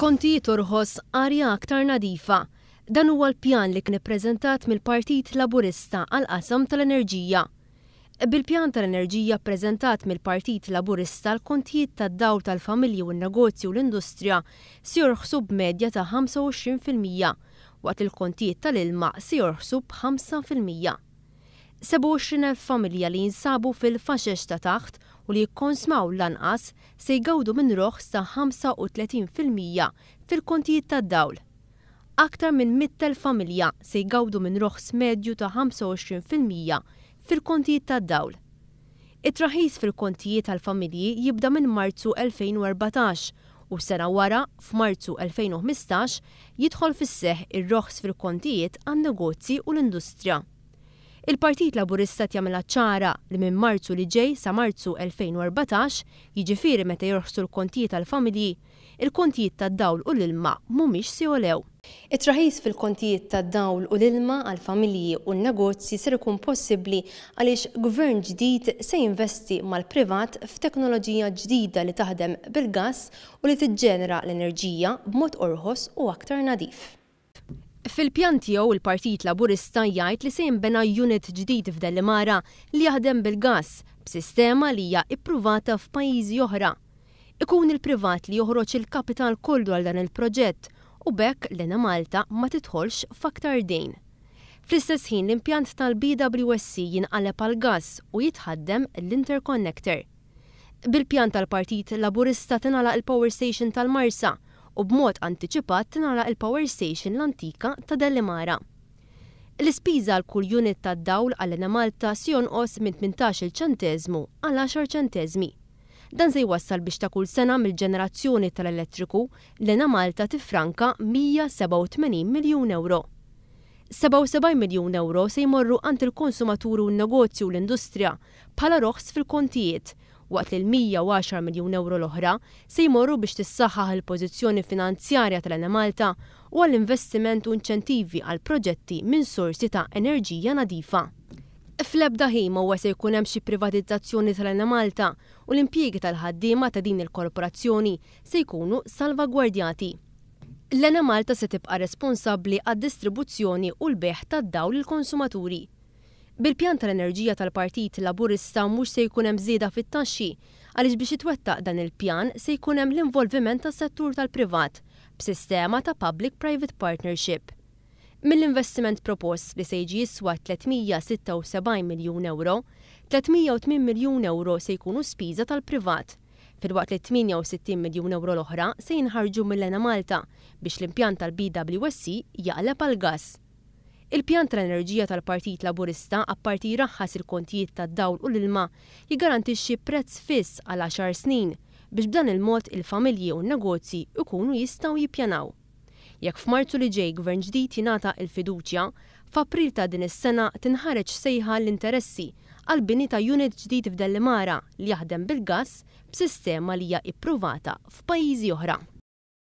Kontijiet orħos, arja aktar nadifa. Dan huwa l-pjan li kien ippreżentat mill-Partit Laburista għall-qasam tal-enerġija. Bil-pjan tal-enerġija ppreżentat mill-Partit Laburista l-kontijiet tad-dawl tal-familji u n-negozji u l-industrija se jorħsu b'medja ta' 25% waqt li l-kontijiet tal-ilma se jorħsu b'5%. 27,000 familja li jinsabu fil-faxex ta' taħt u li jikkonsmaw l-anqas se jgawdu minn roħs ta' 35% fil-kontijiet tad-dawl. Aktar minn 100,000 familja se jgawdu minn roħs medju ta' 25% fil-kontijiet tad-dawl. It-traħħis fil-kontijiet għall-familji jibda minn Marzu 2014 u sena wara, f'Marzu 2015, jidħol fis-seħħ ir-roħs fil-kontijiet għan-negozji u l-industrija. Il-Partit Laburista qed jagħmilha ċara li minn Marzu li ġej sa Marzu 2014, jiġifieri meta jorħsu l-kontijiet għall-familji, il-kontijiet tad-dawl u l-ilma mhumiex se jogħlew. It-traħħis fil-kontijiet tad-dawl u l-ilma għall-familji u n-negozji ser ikun possibbli għaliex Gvern ġdid se jinvesti mal-privat f'teknoloġija ġdida li taħdem bil-gass u li tiġġenera l-enerġija b'mod orħos u aktar nadif. Fil-pjan tiegħu il-Partit Laburista jgħid li se jinbena unit ġdid f'Dellimara li jaħdem bil-gass b'sistema li hija ippruvata f'pajjiżi oħra. Ikun il-privat li joħroġ il-kapital kollu għal dan il-proġett u b'hekk l-Enemalta ma tidħolx f'aktar dejn. Fl-istess ħin l-impjant tal-BWSC jinqaleb għall-gass u jitħaddem l-interconnector. Bil-pjan tal-Partit Laburista tingħalaq il-power station tal-Marsa u b'mod antiċipat tingħalaq il-power station l-antika ta' Dellimara. L-ispiża għal kull unit tad-dawl għall-Enemalta se jonqos minn 18-il ċenteżmu għal għaxar ċenteżmi. Dan se jwassal biex ta' kull sena mill-ġenerazzjoni tal-elettriku l-Enemalta tiffranka 187 miljun ewro. 77 miljun ewro se jmorru għand il-konsumaturi u n-negozji u l-industrija bħala roħs fil-kontijiet, waqt li l-110 miljun ewro l-oħra se jmorru biex tissaħħaħ il-pożizzjoni finanzjarja tal-Enemalta u għall-investiment u inċentivi għal proġetti minn sorsi ta' enerġija nadifa. Fl-ebda ħin ma huwa se jkun hemm xi privatizzazzjoni tal-Enemalta u l-impjiegi tal-ħaddiema ta' din il-korporazzjoni se jkunu salvagwardjati. L-Enemalta se tibqa' responsabbli għad-distribuzzjoni u l-bejgħ tad-dawl lill-konsumaturi. Bil-pjan tal-enerġija tal-Partit Laburista mhux se jkun hemm żieda fit-taxxi għaliex biex jitwettaq dan il-pjan se jkun hemm l-involviment tas-settur tal-privat b'sistema ta' public-private partnership. Mill-investiment propost li se jiġi jiswa 376 miljun ewro, 308 miljun ewro se jkunu spiża tal-privat, filwaqt li 68 miljun ewro l-oħra se jinħarġu mill-Enemalta biex l-impjant tal-BWSC jaqleb għall-gass. Il-pjan tal-enerġija tal-Partit Laburista apparti jraħħas il-kontijiet tad-dawl u l-ilma, jiggarantixxi prezz fiss għal għaxar snin biex b'dan il-mod il-familji u n-negozji jkunu jistgħu jippjanaw. Jekk f'Marzu li ġej Gvern ġdid jingħata l-fiduċja, f'April ta' din is-sena tinħareġ sejħa għall-interessi għall-bini ta' unit ġdid f'Dellimara li jaħdem bil-gass b'sistema li hija ippruvata f'pajjiżi oħra.